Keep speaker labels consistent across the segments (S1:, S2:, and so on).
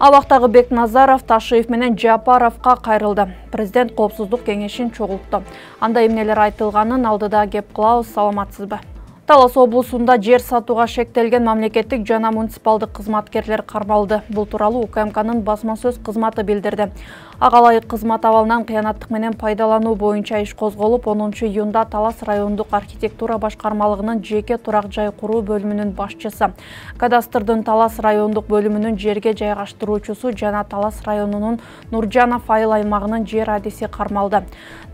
S1: Абактагы Бекназаров, Ташиев менен Жапаровго кайрылды. Президент коопсуздук кеңешин чогултту. Анда эмнелер айтылганын алдыда кеп кылабыз, саламатсызбы? Талас облусунда жер сатууга шектелген мамлекеттик жана муниципалдык кызматкерлер кармалды. Бул тууралуу УКМКнын басма сөз кызматы билдирди. Ага ылайык кызмат абалынан кыянаттык менен пайдалануу боюнча иш козголуп, 10-июнда Талас райондук архитектура башкармалыгынын жеке турак жай куруу бөлүмүнүн башчысы, кадастрдын Талас райондук бөлүмүнүн жерге жайгаштыруучусу жана Талас районунун Нуржанов айыл аймагынын жер адиси кармалды.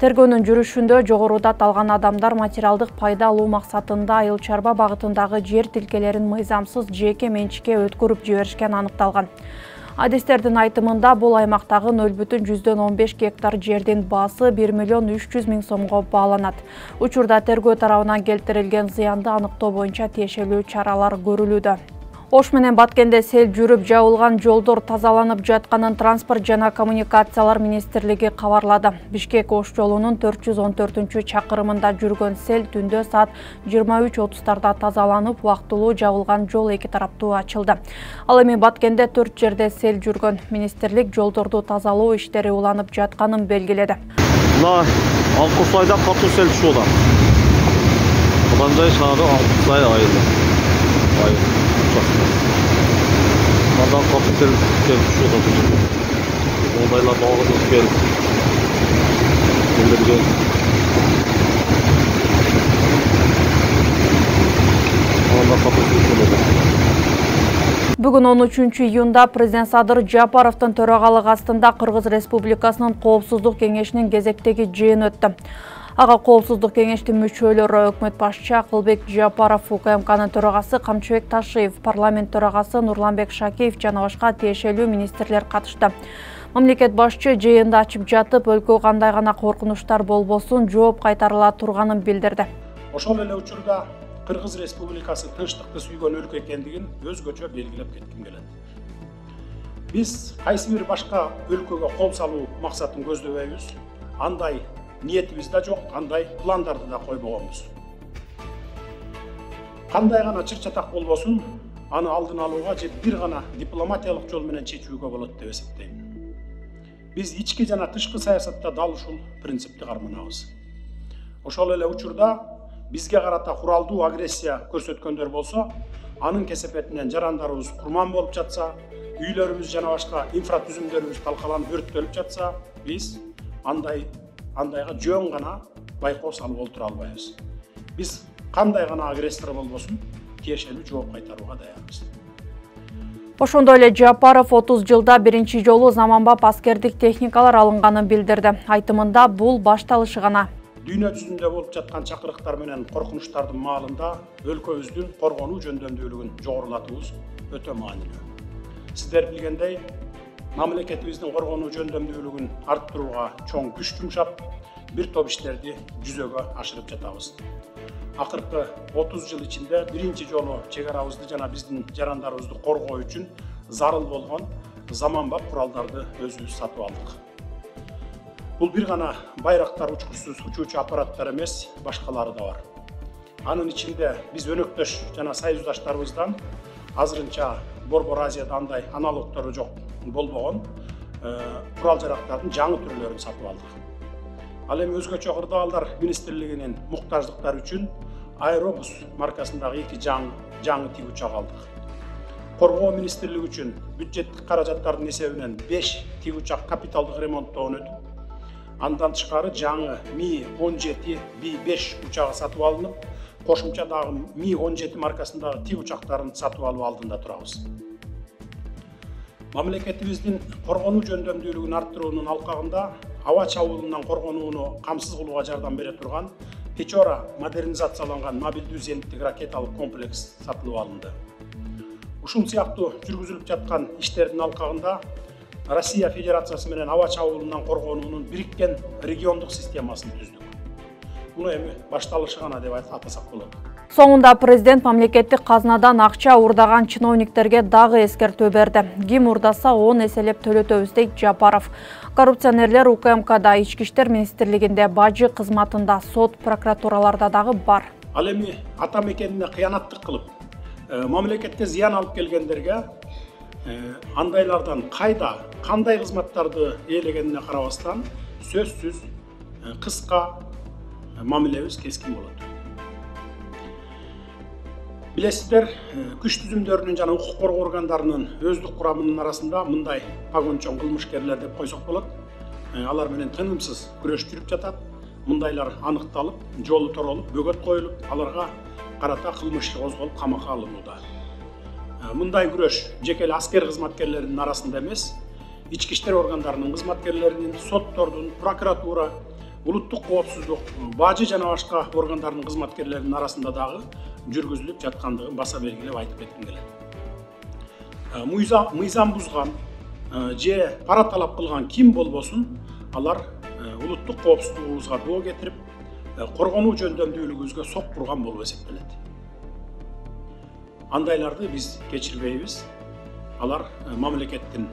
S1: Тергөөнүн жүрүшүндө жогоруда аталган адамдар материалдык пайда алуу максатында айыл чарба багытындагы жер тилкелерин мыйзамсыз жеке менчикке өткөрүп жиберишкен аныкталган. Адистердин айтымында бул аймактагы 0,15 гектар жердин баасы 1,3 миллион сомго бааланат. Учурда тергөө тарабынан келтирилген зыянды аныктоо боюнча тиешелүү чаралар көрүлүүдө. Ош менен Баткенде сел жүрүп жабылган жолдор тазаланып жатканын Транспорт жана коммуникациялар министрлиги кабарлады. Бишкек-Ош жолунун 414-чакырымында жүргөн сел түндө саат 23:30 тазаланып, убактылуу жабылган жол эки тараптуу ачылды. Ал эми Баткенде 4 жерде сел жүргөн. Министрлик жолдорду тазалоо иштери уланып жатканын белгиледи.
S2: Мына Алкусайда катуу сел түшүп атат. Кандай шаары Алкусай айылы. Мындан капитал түшүп атат. Ондайлар багып келип билдирген.
S1: Бүгүн 13-июнда президент Садыр Жапаровдун төрагалыгы астында Кыргыз Республикасынын Коопсуздук кеңешинин кезектеги жыйыны өттү. Ага коопсуздук кеңештин мүчөлөрү өкмөт башчы Акылбек Жапаров, УКМКнын төрагасы Камчыбек Ташиев, парламент төрагасы Нурланбек Шакеев жана башка тиешелүү министрлер катышты. Мамлекет башчы жыйынды ачып жатып, өлкө кандай гана коркунучтар болбосун жооп кайтарыла турганын билдирди.
S3: Ошол эле учурда Кыргыз Республикасы тынчтыкты сүйгөн өлкө экендигин өзгөчө белгилеп кетким келет. Биз кайсы бир башка өлкөгө кол салуу максатын көздөбөйбүз. Андай ниетибиз да жок, кандай пландарды да койбогонбуз. Кандай гана чыр-чатак болбосун, аны алдын алууга же бир гана дипломатиялык жол менен чечүүгө болот деп эсептейм. Биз ички жана тышкы саясатта дал ушул принципти карманабыз. Ошол эле учурда бизге карата куралдуу агрессия көрсөткөндөр болсо, анын кесепетинен жарандарыбыз курман болуп жатса, үйлөрүбүз жана башка инфратүзүмдөрүбүз талкаланып өрттөлүп жатса, биз андайга жөн гана байкоо салып олтура албайбыз. Биз кандай гана агрессор болбосун, тиешелүү жооп кайтарууга даярбыз.
S1: Ошондой эле Жапаров 30 жылда биринчи жолу заманбап аскердик техникалар алынганын билдирди. Айтымында бул башталышы гана.
S3: Дүйнө жүзүндө болуп жаткан чакырыктар менен коркунучтардын маалында өлкөбүздүн коргонуу жөндөмдүүлүгүн жогорулатуубуз өтө маанилүү. Сиздер билгендей, мамлекетибиздин коргонуу жөндөмдүүлүгүн арттырууга чоң күч жумшап, бир топ иштерди жүзөгө ашырып жатабыз. Акыркы 30 жыл ичинде биринчи жолу чек арабызды жана биздин жарандарыбызды коргоо үчүн зарыл болгон заманбап куралдарды өзүбүз сатып алдык. Бул бир гана байрактар учкучсуз учуучу аппараттар эмес, башкалары да бар. Анын ичинде биз өнөктөш жана союздаштарыбыздан азырынча Борбор Азияда андай аналогтору жок болбогон курал-жарактардын жаңы түрлөрүн сатып алдык. Ал эми өзгөчө кырдаалдар министрлигинин муктаждыктары үчүн Аэробус маркасындагы 2 жаңы тик учак алдык. Коргоо министрлиги үчүн бюджеттик каражаттардын эсебинен 5 тик учак капиталдык ремонттоон өтүп, андан тышкары жаңы Ми-17 Би-5 учагы сатып алынып, кошумча дагы Ми-17 маркасындагы тик учактарын сатып алуу алдында турабыз. Мамлекетибиздин коргонуу жөндөмдүүлүгүн арттыруунун алкагында аба чабуулунан коргонууну камсыз кылууга жардам бере турган Печора модернизацияланган мобилдүү зениттик ракеталык комплекс сатылып алынды. Ушул сыяктуу жүргүзүлүп жаткан иштердин алкагында Россия Федерациясы менен аба чабуулунан коргонуунун бириккен региондук системасын түздүк. Муну эми башталышы гана деп атасак болот.
S1: Соңунда президент мамлекеттик казнадан акча урдаган чиновниктерге дагы эскертүү берди. Ким урдаса 10 эселеп төлөтөбүз дейт Жапаров. Коррупционерлер УКМКда, Ички иштер министрлигинде, бажы кызматында, сот, прокуратураларда дагы бар.
S3: Ал эми ата мекенине кыянаттык кылып, мамлекетке зыян алып келгендерге андайлардан кандай кызматтарды ээлегенине карабастан сөзсүз кыска мамилебиз кескин болот. Билесиздер, күч түзүмдөрүнүн жана укук коргоо органдарынын өздүк курамынын арасында мындай погончоң кылмышкерлер деп койсок болот. Алар менен тынымсыз күрөш жүрүп жатат. Мындайлар аныкталып, жолу торолуп, бөгөт коюлуп, аларга карата кылмыш иши козголуп, камакка алынууда. Мындай күрөш жеке эле аскер кызматкерлеринин арасында эмес, ички иштер органдарынын кызматкерлеринин, соттордун, прокуратура, улуттук коопсуздук, бажы жана башка органдарынын кызматкерлеринин арасында дагы жүргүзүлүп жаткандыгын баса белгилеп айтып кетким келет. Мыйзам бузган же пара талап кылган ким болбосун, алар улуттук коопсуздугубузга доо кетирип, коргонуу жөндөмдүүлүгүбүзгө сок турган болуп эсептелет. Андайларды биз кечирбейбиз. Алар мамлекеттин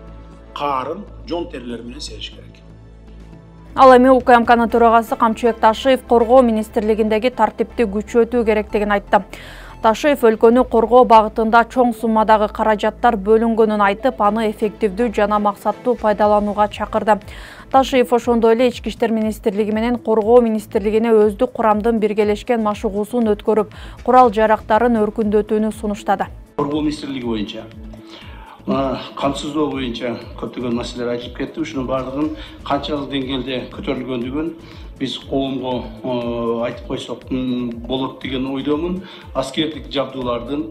S3: каарын жон терилери менен сегиш керек.
S1: Ал эми УКМКнын төрагасы Камчыбек Ташиев коргоо министрлигиндеги тартипти күчөтүү керектигин айтты. Ташиев өлкөнү коргоо багытында чоң суммадагы каражаттар бөлүнгөнүн айтып, аны эффективдүү жана максаттуу пайдаланууга чакырды. Ташиев ошондой эле Ички иштер министрлиги менен коргоо министрлигине өздүк курамдын биргелешкен машыгуусун өткөрүп, курал-жарактарын өркүндөтүүнү сунуштады.
S4: Коргоо министрлиги боюнча камсыздоо боюнча көптөгөн маселелер айтылып кетти. Ушунун баардыгын канчалык деңгээлде көтөрүлгөндүгүн биз коомго айтып койсок болот деген ойдомун. Аскердик жабдуулардын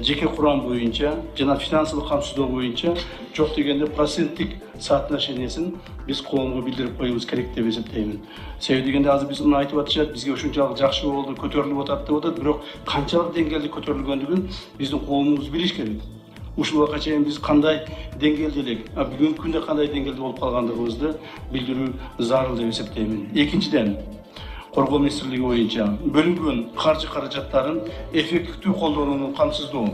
S4: жеке курам боюнча жана финансылык камсыздоо боюнча жок дегенде проценттик соотношениесин биз коомго билдирип коюубуз керек деп эсептеймин. Себеби дегенде азыр биз муну айтып атышат, бизге ушунчалык жакшы болду, көтөрүлүп атат деп атат, бирок канчалык деңгээлде көтөрүлгөндүгүн биздин коомубуз билиш керек. Ушул убакка чейин биз кандай деңгээлде элек, бүгүнкү күндө кандай деңгээлде болуп калгандыгыбызды билдирүү зарыл деп эсептеймин. Экинчиден, коргоо министрлиги боюнча бөлүнгөн каржы каражаттарын эффективдүү колдонууну камсыздоо.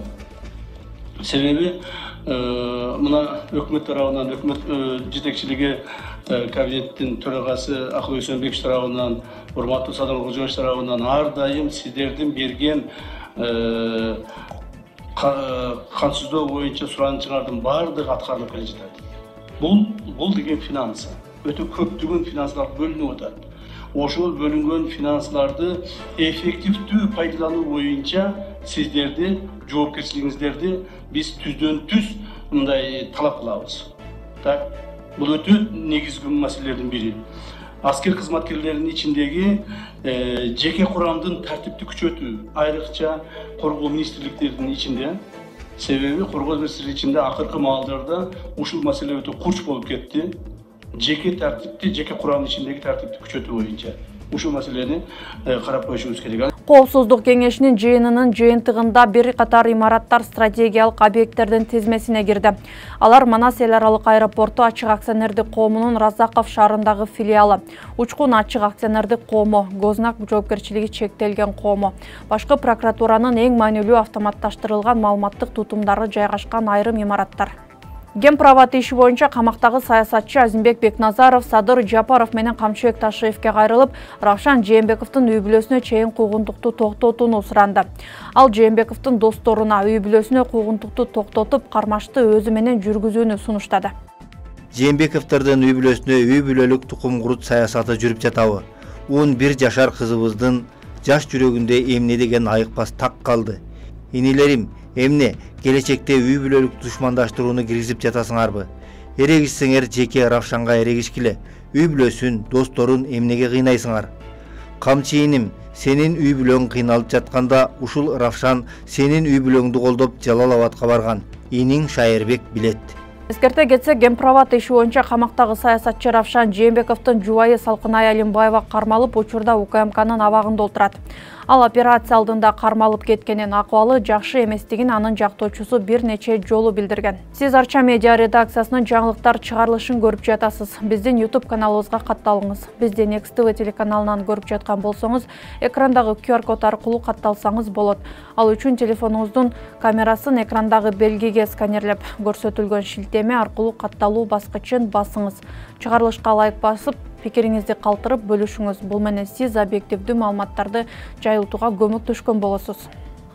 S4: Себеби мына өкмөт тарабынан, өкмөт жетекчилиги, кабинеттин төрагасы Акыл Өсөнбекович тарабынан, урматтуу Садыр Кожоевич тарабынан ар дайым сиздердин берген камсыздоо боюнча суранычыңардын баардыгы аткарылып келе жатат. Бул деген финансы өтө көптөгөн финансылар бөлүнүп атат. Ошол бөлүнгөн финансыларды эффективдүү пайдалануу боюнча сиздерди, жоопкерчилигиңиздерди биз түздөн түз мындай талап кылабыз. Так, бул өтө негизги маселелердин бири. Аскер кызматкерлеринин ичиндеги жеке курамдын тартипти күчөтүү, айрыкча коргоо министрликтеринин ичинде. Себеби коргоо министрлиги ичинде акыркы маалдарда ушул маселе өтө курч болуп кетти. Жеке тартипти, жеке курамдын ичиндеги тартипти күчөтүү боюнча ушул маселени карап коюшубуз керек.
S1: Коопсуздук кеңешинин жыйынынын жыйынтыгында бир катар имараттар стратегиялык объекттердин тизмесине кирди. Алар Манас эл аралык аэропорту ачык акционердик коомунун Разаков шаарындагы филиалы, Учкун ачык акционердик коому, Гознак жоопкерчилиги чектелген коому, башкы прокуратуранын эң маанилүү автоматташтырылган маалыматтык тутумдары жайгашкан айрым имараттар. Гемправат иши боюнча камактагы саясатчы Азимбек Бекназаров Садыр Жапаров менен Камчыбек Ташиевке кайрылып, Равшан Жээнбековдун үй бүлөсүнө чейин куугунтукту токтотууну суранды. Ал Жээнбековдун досторуна үй бүлөсүнө куугунтукту токтотуп, кармашты өзү менен жүргүзүүнү сунуштады.
S5: Жээнбековдордун үй бүлөсүнө үй бүлөлүк тукум курут саясаты жүрүп жатабы? 11 жашар кызыбыздын жаш жүрөгүндө эмне деген айыкпас так калды. Инилерим, эмне келечекте үй бүлөлүк душмандаштырууну киргизип жатасыңарбы? Эрегишсеңер жеке Равшанга эрегишкиле. Үй бүлөсүн, досторун эмнеге кыйнайсыңар? Камчыйыным, сенин үй бүлөң кыйналып жатканда ушул Равшан сенин үй бүлөңдү колдоп Жалал Абадка барган. Иниң Шайырбек билет.
S1: Эскерте кетсек, Гемправат иши боюнча камактагы саясатчы Равшан Жээнбековдун жубайы Салкынай Алимбаева кармалып, учурда УКМКнын абагында отурат. Ал операция алдында кармалып кеткенин, акыбалы жакшы эместигин анын жактоочусу бир нече жолу билдирген. Сиз Арча медиа редакциясынын жаңылыктар чыгарылышын көрүп жатасыз. Биздин YouTube каналыбызга катталыңыз. Бизди Next TV телеканалынан көрүп жаткан болсоңуз, экрандагы QR код аркылуу катталсаңыз болот. Ал үчүн телефонуңуздун камерасын экрандагы белгиге сканерлеп, көрсөтүлгөн шилтеме аркылуу катталуу баскычын басыңыз. Чыгарылышка лайк басып, пикириңизди калтырып бөлүшүңүз. Бул менен сиз объективдүү маалыматтарды жайылтууга көмөктөшкөн болосуз.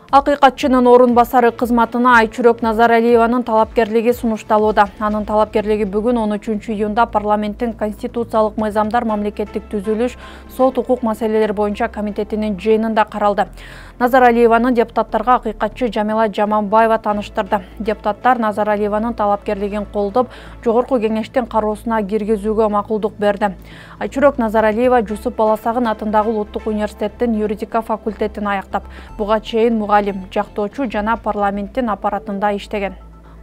S1: Акыйкатчынын орун басары кызматына Айчүрөк Назаралиеванын талапкерлиги сунушталууда. Анын талапкерлиги бүгүн 13 июнда парламенттин Конституциялык мыйзамдар мамлекеттик түзүлүш, сот укук маселелери боюнча комитетинин жыйынында каралды. Назаралиеванын депутаттарга акыйкатчы Жамила Жаманбаева тааныштырды. Депутаттар Назаралиеванын талапкерлигин колдоп, жогорку кеңештин кароосуна киргизүүгө макулдук берди. Айчүрөк Назаралиева Жусуп Баласагын атындагы Улуттук университеттин юридика факультетин аяктап, буга чейин жактоочу жана парламенттин аппаратында иштеген.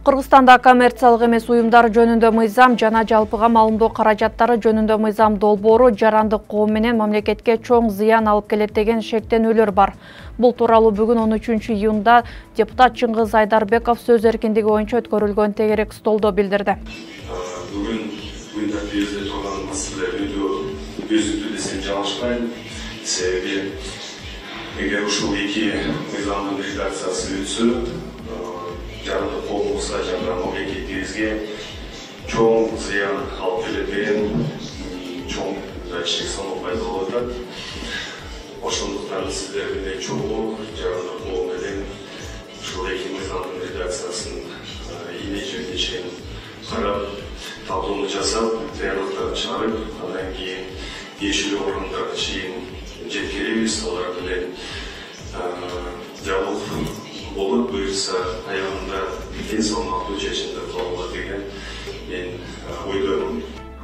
S1: Кыргызстанда коммерциялык эмес уюмдар жөнүндө мыйзам жана жалпыга маалымдоо каражаттары жөнүндө мыйзам долбоору жарандык коом менен мамлекетке чоң зыян алып келет деген шектенүүлөр бар. Бул тууралуу бүгүн 13 июнда депутат Чыңгыз Айдарбеков сөз эркиндиги боюнча өткөрүлгөн тегерек столдо билдирди.
S6: Бүгүн мындай бизде турган маселелер өзүктүү десем жалышпайм. Себеби эгер ушул эки мыйзамдын редакциясы өтсө, жарандык коомубузга жана мамлекетибизге чоң зыян алып келет деген чоң датчик саналып пайда болуп атат. Ошондуктан сиздер менен чогуу жарандык коом менен ушул эки мыйзамдын редакциясын ийне чейин карап, талкууну жасап, даярдыктарын чыгарып, андан кийин тиешелүү орундарга чейин жеткиребиз. Алар менен диалог болуп, буюрса аягында тең салмактуу чечимдер кабыл деген мен ойдомун.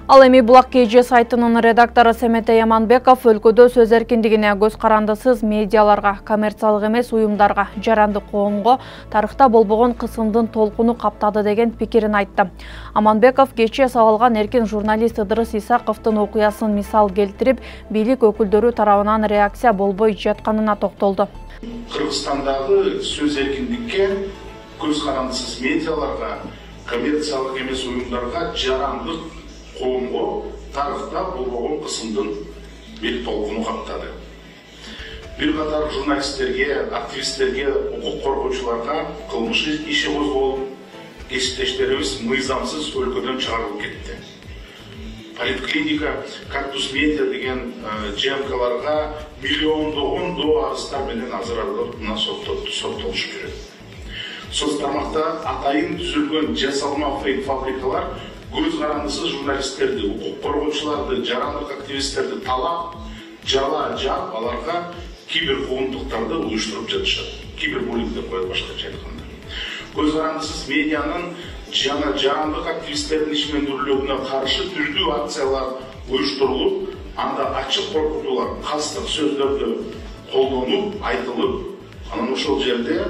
S1: Ал эми Булак КЖ сайтынын редактору Семете Яманбеков өлкөдө сөз эркиндигине, көз карандысыз медиаларга, коммерциялык эмес уюмдарга, жарандык коомго тарыхта болбогон кысымдын толкуну каптады деген пикирин айтты. Аманбеков кечээ сабалган эркин журналист Ыдырыс Исаковдун окуясын мисал келтирип, бийлик өкүлдөрү тарабынан реакция болбой жатканына токтолду.
S7: Кыргызстандагы сөз эркиндикке, көз карандысыз медиаларга, коммерциялык эмес уюмдарга, жарандык коомго тарыхта болбогон кысымдын бир толкуну каптады. Бир катар журналисттерге, активисттерге, укук коргоочуларга кылмыш иши козголуп, кесиптештерибиз мыйзамсыз өлкөдөн чыгарылып кетти. Политклиника, Кактус Медиа деген ЖМКларга миллиондогон доо арыздар менен азыр мына соттолушуп жүрөт. Соц тармакта атайын түзүлгөн жасалма фейк фабрикалар көз карандысыз журналисттерди, укук коргоочуларды, жарандык активисттерди талап, жала жаап, аларга киберкуугунтуктарды уюштуруп жатышат. Кибербуллинг деп коет башкача айтканда. Көз карандысыз медианын жана жарандык активисттердин ишмендүүлүгүнө каршы түрдүү акциялар уюштурулуп, анда ачык коркутуулар, кастык сөздөрдү колдонуп, айтылып, анан ошол жерде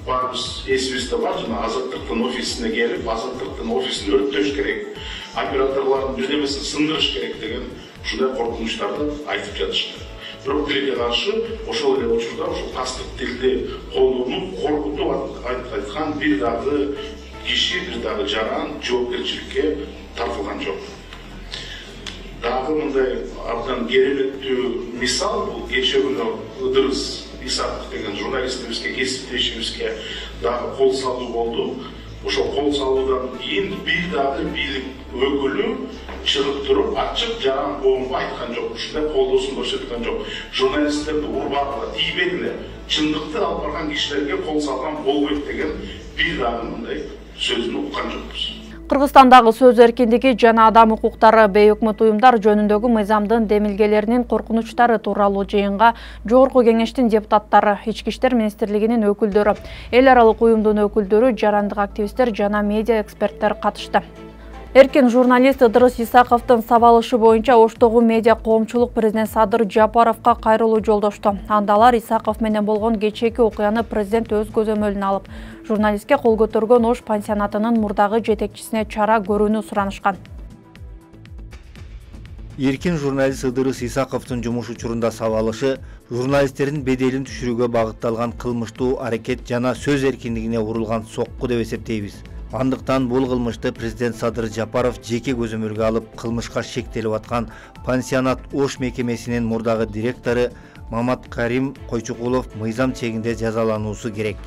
S7: барыбыз эсибизде бар, жана Азаттыктын офисине келип, Азаттыктын офисин өрттөш керек, операторлордун бирдемесин сындырыш керек деген ушундай коркунучтарды айтып жатышты. Бирок тилге каршы ошол эле учурда ошол кастык тилди колдонуп, коркутуп айткан бир дагы киши, бир дагы жаран жоопкерчиликке тартылган жок. Дагы мындай абдан кереметтүү мисал бул кечээ күнү Ыдырыс Исаков деген журналистибизге, кесиптешибизге дагы кол салуу болду. Ошол кол салуудан кийин бир дагы бийлик өкүлү чыгып туруп, ачык жаран коомго айткан жок, ушундай колдоосун көрсөткөн жок. Журналисттерди урбагыла, тийбегиле, чындыкты алып барган кишилерге кол салган болбойт деген бир дагы мындай сөзүн уккан жокпуз.
S1: Кыргызстандагы сөз эркиндиги жана адам укуктары бейөкмөт уюмдар жөнүндөгү мыйзамдын демилгелеринин коркунучтары тууралуу жыйынга Жогорку кеңештин депутаттары, Ички иштер министрлигинин өкүлдөрү, эл аралык уюмдун өкүлдөрү, жарандык активисттер жана медиа эксперттер катышты. Эркин журналист Ыдырыс Исаковдун сабалышы боюнча Оштогу медиа коомчулук президент Садыр Жапаровго кайрылуу жолдошту. Анда алар Исаков менен болгон кечээки окуяны президент өз көзөмөлүнө алып, журналистке кол көтөргөн Ош пансионатынын мурдагы жетекчисине чара көрүүнү суранышкан.
S5: Эркин журналист Ыдырыс Исаковдун жумуш учурунда сабалышы журналисттердин беделин түшүрүүгө багытталган кылмыштуу аракет жана сөз эркиндигине урулган сокку деп эсептейбиз. Андыктан бул кылмышты президент Садыр Жапаров жеке көзөмөлгө алып, кылмышка шектелип аткан пансионат Ош мекемесинин мурдагы директору Мамат Карим Койчукулов мыйзам чегинде жазалануусу керек.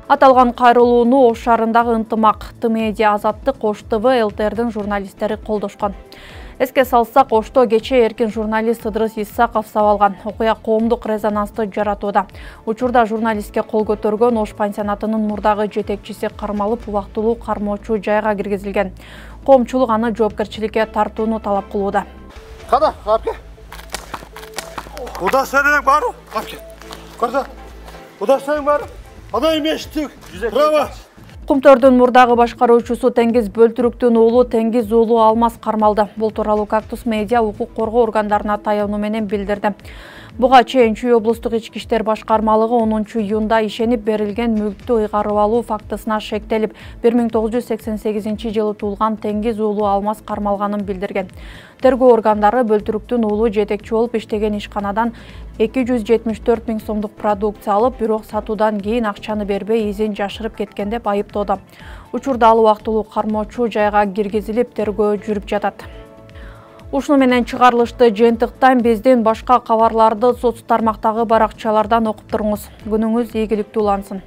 S1: Аталган кайрылууну Ош шаарындагы Ынтымак, Т-Медиа, Азаттык, Ош ТВ, ЛТРдин журналисттери колдошкон. Эске салсак, Ошто кечээ эркин журналист Ыдырыс Исаков сабалган. Окуя коомдук резонансты жаратууда. Учурда журналистке кол көтөргөн Ош пансионатынын мурдагы жетекчиси кармалып, убактылуу кармоочу жайга киргизилген. Коомчулук аны жоопкерчиликке тартууну талап кылууда.
S8: Када, апке. Удастырың бару? Апке. Көрдө. Удастырың бару? Ана эмештик. Право.
S1: Кумтөрдүн мурдагы башкаруучусу Теңиз Бөлтүрүктүн уулу Теңиз уулу Алмаз кармалды. Бул тууралуу Кактус медиа укук коргоо органдарына таянуу менен билдирди. Буга чейин Чүй облустук ички иштер башкармалыгы 10 июнда ишенип берилген мүлктү ыйгарып алуу фактысына шектелип, 1988 жылы туулган Теңиз уулу Алмаз кармалганын билдирген. Тергөө органдары Бөлтүрүктүн уулу жетекчи болуп иштеген ишканадан 274 000 сомдук продукция алып, бирок сатуудан кийин акчаны бербей изин жашырып кеткен деп айыптоодо. Учурда ал убактылуу кармоочу жайга киргизилип, тергөө жүрүп жатат. Ушуну менен чыгарылышты жыйынтыктан биздин башка кабарларды соц тармактагы баракчалардан окуп туруңуз. Күнүңүз ийгиликтүү улансын.